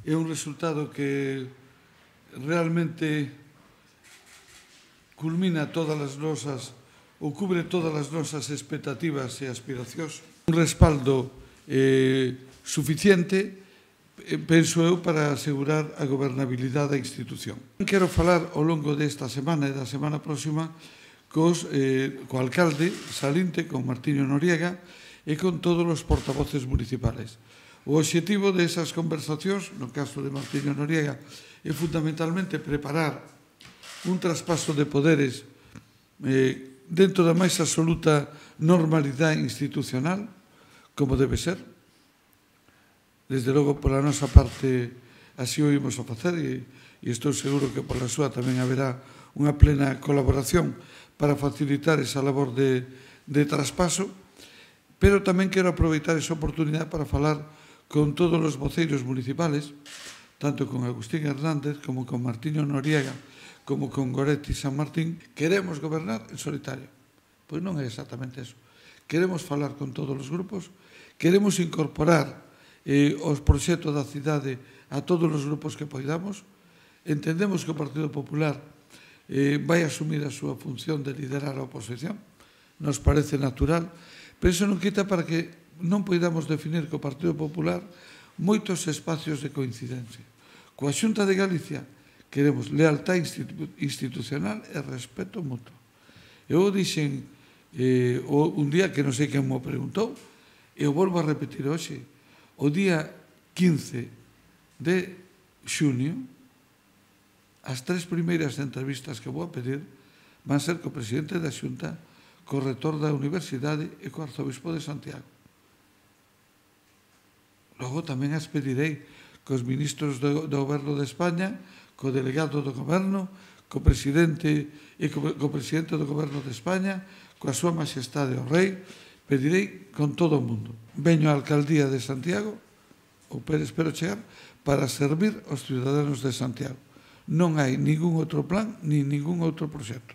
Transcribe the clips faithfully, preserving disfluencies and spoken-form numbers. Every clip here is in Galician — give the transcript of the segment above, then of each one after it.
é un resultado que realmente culmina todas as nosas ou cubre todas as nosas expectativas e aspiracións. Un respaldo eh, suficiente, eh, penso eu, para asegurar a gobernabilidade da institución. Quero falar ao longo desta semana e da semana próxima cos, eh, co alcalde Salinte, con Martiño Noriega e con todos os portavoces municipales. O obxectivo desas conversacións, no caso de Martiño Noriega, é fundamentalmente preparar un traspaso de poderes eh, dentro da máis absoluta normalidade institucional, como debe ser. Desde logo, pola nosa parte, así o imos a facer e, e estou seguro que pola súa tamén haberá unha plena colaboración para facilitar esa labor de, de traspaso, pero tamén quero aproveitar esa oportunidade para falar con todos os voceiros municipales, tanto con Agustín Hernández como con Martiño Noriega, como con Goretti San Martín. Queremos gobernar en solitario. Pois non é exactamente eso. Queremos falar con todos os grupos, queremos incorporar eh, os proxectos da cidade a todos os grupos que poidamos. Entendemos que o Partido Popular eh, vai asumir a súa función de liderar a oposición. Nos parece natural, pero iso non quita para que non poidamos definir co Partido Popular moitos espacios de coincidencia. Coa Xunta de Galicia queremos lealtad institucional e respeto mutuo. Eu dixen eh, un día que non sei quen me preguntou, e eu volvo a repetir hoxe, o día quince de xunio, as tres primeiras entrevistas que vou a pedir van ser co presidente da Xunta, co rector da Universidade e co arzobispo de Santiago. Logo tamén as pedirei cos ministros do, do Goberno de España, co delegado do Goberno, co presidente e co, co presidente do Goberno de España, coa súa majestade o rei, pedirei con todo o mundo. Veño á alcaldía de Santiago, ou espero chegar, para servir aos ciudadanos de Santiago. Non hai ningún outro plan, ni ningún outro proxecto.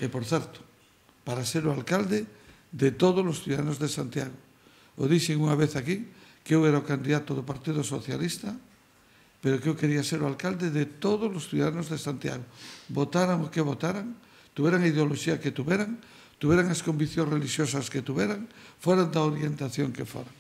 E, por certo, para ser o alcalde de todos os ciudadanos de Santiago. O dixen unha vez aquí, que eu era o candidato do Partido Socialista, pero que eu quería ser o alcalde de todos os ciudadanos de Santiago. Votaran o que votaran, tuveran a ideoloxía que tuveran, tuveran as conviccións religiosas que tuveran, foran da orientación que foran.